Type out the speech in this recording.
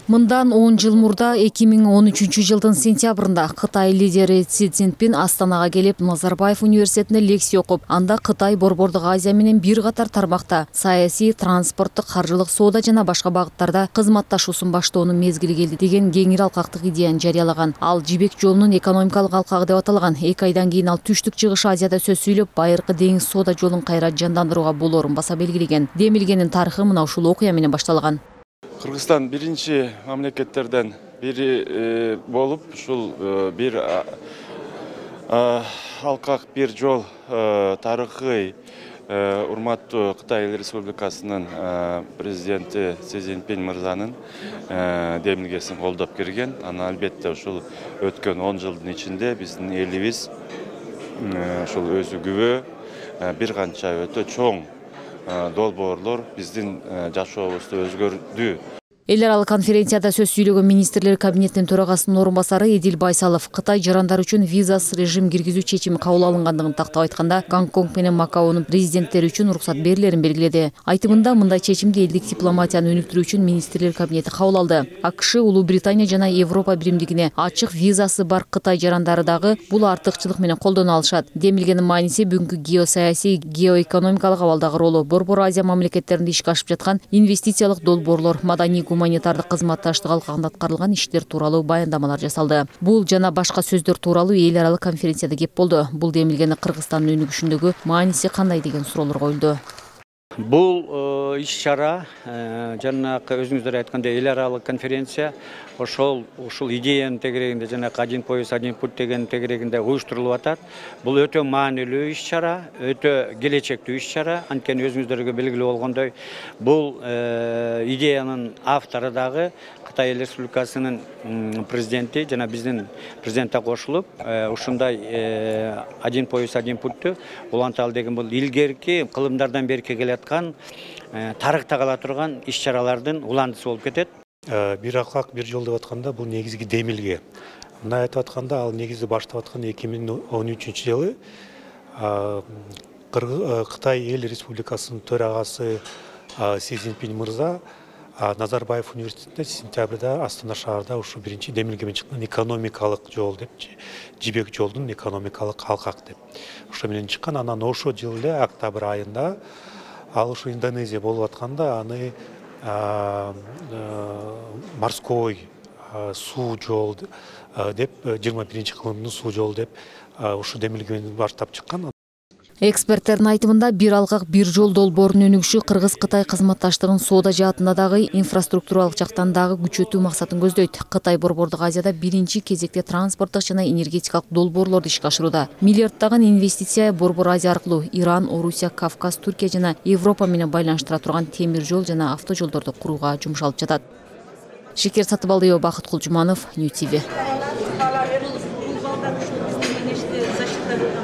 Мындан 10 жыл мурда 2013 жылдын сентябрында Кытай лидери Си Цзиньпин Астанага келип, Назарбаев университетинде лекция окуп, анда Кытай Борбордук Азия менен бир катар тармакта саясий, транспорттук, каржылык, соода жана башка багыттарда кызматташуусун баштоонун мезгили келди деген кеңири алкактык идеяны жарыялаган. Ал жибек жолунун экономикалык алкагы деп аталган. 2 айдан кийин ал түштүк чыгыш Азияда сөз сүйлөп, байыркы деңиз соода жолун кайра жандандырууга болоорун баса белгилеген. Демилгенин тарыхы мына ушул окуя менен башталган. Кыргызстан биринчи мамлекеттерден бири болуп, ушул бир алкак бир жол тарыхый урматтуу Кытай Республикасынын президенти Си Цзиньпин мырзанын демилгесин колдоп кирген. Ана албетте ушул өткөн 10 жылдын ичинде биздин элибиз ушул өзү күбө бир канча өтө чоң долбоорлор биздин жашообузду өзгөрдү. Эл аралык конференцияда сөз сүйлөгөн министрлер кабинетинин төрагасынын орун басары Эдил Байсалов Кытай жарандар үчүн визасыз режим киргизүү чечими кабыл алынгандыгын тактап айтканда, Гонконг менен Макаонун президенттери үчүн уруксат берилерин белгиледи. Айтымында мындай чечимди элдик дипломатияны өнүктүрүү үчүн министрлер кабинети кабыл алды. АКШ, Улуу Британия жана Европа биримдигине ачык визасы бар Кытай жарандары дагы бул артыкчылык менен колдоно алышат. Демилгенин мааниси бүгүнкү геосаясий, геоэкономикалык абалдагы ролу, Борбор Азия мамлекеттеринде ишке ашып жаткан инвестициялык долбоорлор, маданий гуманитардык кызматташтык алкагында аткарылган иштер тууралуу баяндамалар жасалды. Бул жана башка сөздөр тууралуу эл аралык конференцияда кеп болду. Бул демилгени Кыргызстандын өнүгүшүндөгү мааниси кандай деген суроолор коюлду. Бул иш-чара жанакы өзүңүздөр айткандай эл аралык конференция ушул идеянын тегерегинде жанакы один пояс, один путь деген тегерегинде уюштурулуп атат. Бул өтө маанилүү иш-чара, өтө келечектүү иш-чара. Анткени өзүңүздөргө белгилүү болгондой, бул идеянын автору дагы Кытай Республикасынын президенти жана биздин президентке кошулуп, ушундай один пояс, один путьту уланталы деген бул илгерки кылымдардан бери келаткан тарыхта кала турган иш-чаралардын уландысы болуп кетет. Бир алкак бир жол деп атканда бул негизги демилге. Мына айтып атканда ал негизи баштап аткан 2013 жылы Кытай Эл Республикасынын төрагасы Си Цзиньпин мырза Назарбаев университетинде сентябрда Астана шаарында ушу биринчи демилге менен чыккан экономикалык жол деп, жибек жолдун экономикалык алкак деп. Ошо менен чыккан. Анан ошо жылы эле октябрь айында ал ушу Индонезия болуп атканда аны морской суу жол деп 21-кылымдын суу жол деп ушу демилгени баштап чыккан. Эксперттердин айтымында бир алкак бир жол долбоорунун өнүгүшү Кыргыз-Кытай кызматташтыгын соода жаатында дагы инфраструктуралык жактан дагы күчөтүү максатын көздөйт. Кытай Борбордук Азияда биринчи кезекте транспорттук жана энергетикалык долбоорлорду ишке ашырууда. Миллиарддаган инвестиция Борбор Азия аркылуу Иран, Орусия, Кавказ, Түркия жана Европа менен байланыштыра турган темир жол жана автожолдорду курууга жумшалып жатат. Шекер Сатыбалдиева, Бакыт Кулжуманов, Нью ТВ.